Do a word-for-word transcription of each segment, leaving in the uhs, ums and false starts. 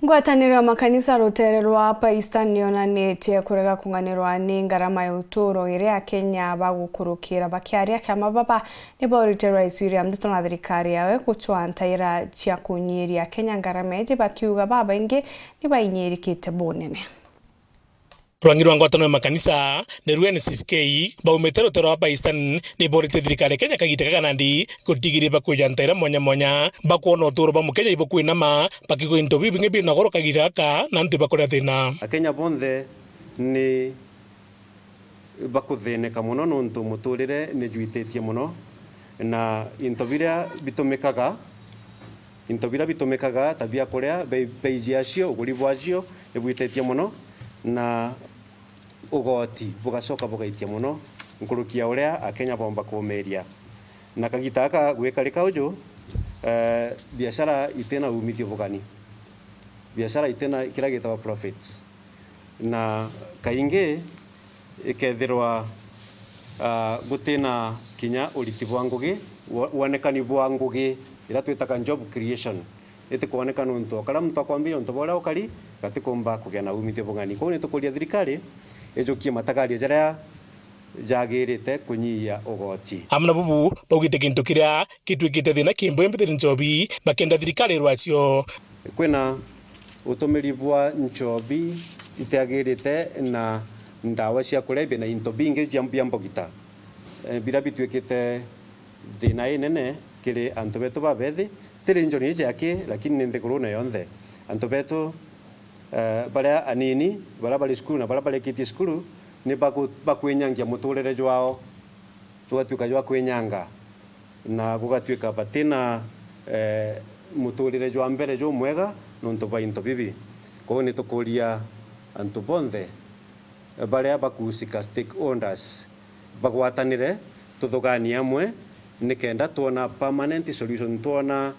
Ngwataniro ya makanisa rutere rwa Upper Eastern niyonanitie kurega kung'anirwa ni ngarama ya uturo iria Akenya bagukurukira. Bakiaria kiama baba nibaurite Rais William Ruto na thirikari yawe gucwa ntaira cia kunyiria Akenya ngarama iji, bakiuga babaingi nibainyiirikite bunene. Rwangi rwa ngwataniro ya makanisa ni rwa N C C K baumite rutere rwa Upper Eastern niborite thirikari ya Kenya kagita gaka nandi gutigiria bakwija ntaira mwanya mwanya bakwona uturo bwa Mukenya ibukwinama, bakigwa into bibingi bina goro kagita gaka na antu bakuria thina. Akenya bonthe ni bakuthineka mono nontu muturire ni jwititie mono, na into biria bitumikaga, into biria bitumikaga ta bia kuria, bei, bei ciacio, uguri bwacio ni bwititie mono, na ugoti bugacoka bugaitia mono nkuruki ya uria Akenya bomba kuumiria. Na kagita gaka gwikarika uju, eh, biashara itina umithio bugani, biashara itina kiria gitagwa profits, na kaingi ikethirwa, ah, gutina kinya uriti bwa ngugi, wo-, wonekani bwa ngugi iria twitaga job creation itikwoneka nontu o karia muntu akwambiria untu bwa uria ukari gatikumba kugia na umithio bung'ani. Kwou nitukuria thirikari ijukie matagaria jaria jagirite kunyihia ugoti. Amwe na bubu baugite gintu kiria gitwikite thina kimboe mbithiri nchobi, bakenda thirikari irwacio. Kwina utumiri bwa nchobi itiagirite na ndawa cia kulevya na into bingi cia, bia mbogita, eh, biria bitwikite thina inene kiri antu betu babethi, ti region iji aki, lakini ni nthigurune yonthe. Antu betu, eh, baria anini, baria bari cukuru na baria barikitie cukuru, ni baku-, bakwinyangia muturire jwao, jugatuika jwa kwinyanga, na gugatuika batina, eh, muturire jwa mbere jumwega nontu bwa into bibi. Kwou nitukuria antu bonthe baria bakuhusika, stakeholders, bagwatanire, tuthuganie amwe nikenda twona permanent solution, twona,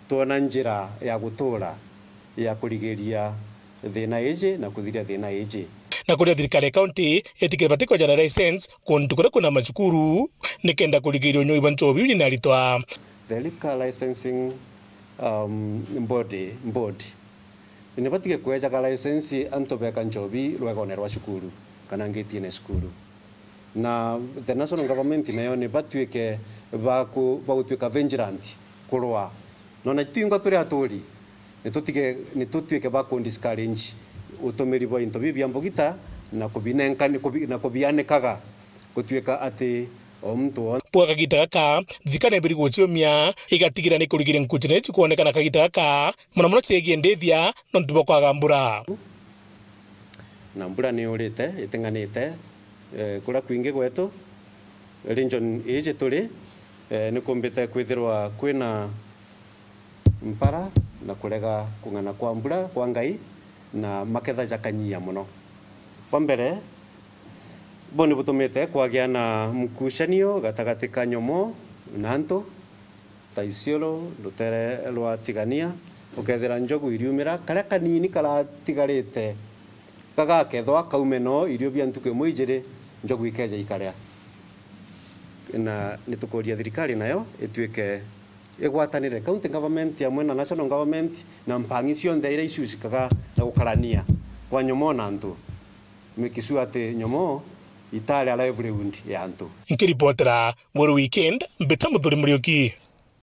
twona njira ya gutura ya kurigiria thina iji na kuthiria thina iji. Na kuria thirikari ya kaunti itikire bati kweja na license kuntu kuria kwina macukuru nikenda kurigiria unyui bwa nchobi uji na aritwa. The liquor licensing, um, body, board ni batige kwejaga license antu beka nchobi rwegone rwa cukuru kana ngitine cukuru. Na the national government nayo ni batuike baku-, bagutuika vigilant kurwa. Nona twingwa turi aturi, ni tutige, ni tutuike ba ku discourage utumiri bwa into bibi bia mbugita na kubinenka-, ni kubi-, na kubianikaga gutuika ati o muntu won- Bwa kagita gaka, thirikari nibiri guciumia igatigira ni kurigiria nkuchine ici kwonekana kagita gaka, mono mono ciegie ndithia nontu bwa kwaga mbura. Na mbura ni yurite iting'anite, eh, kuria kwingi gwetu, region iji turi, eh, ni kumbite kwithirwa kwina mpara na kurega kung'ana kwa mbura kwa Ngai, na maketha jakanyia mono. Kwa mbere, bo ni butumite kwagia na mkucanio gatagati ka nyomo na antu, ta Isiolo, rutere rwa Tigania, ukethira njogu iriumira, karia kanini karatigarite gagakethwa kaume no irio bia ntuku imwe ijiri, njogu ikeja ikaria. Na nitukuria thirikari nayo ituike igwatanire, county government amwe na national government na mpangi cionthe iria icusikaga na gukarania kwa nyomo na antu, make sure ati nyomo itari a livelihood ya antu. Nkiripotera Weru Weekend, mbita Muthuri Muriuki.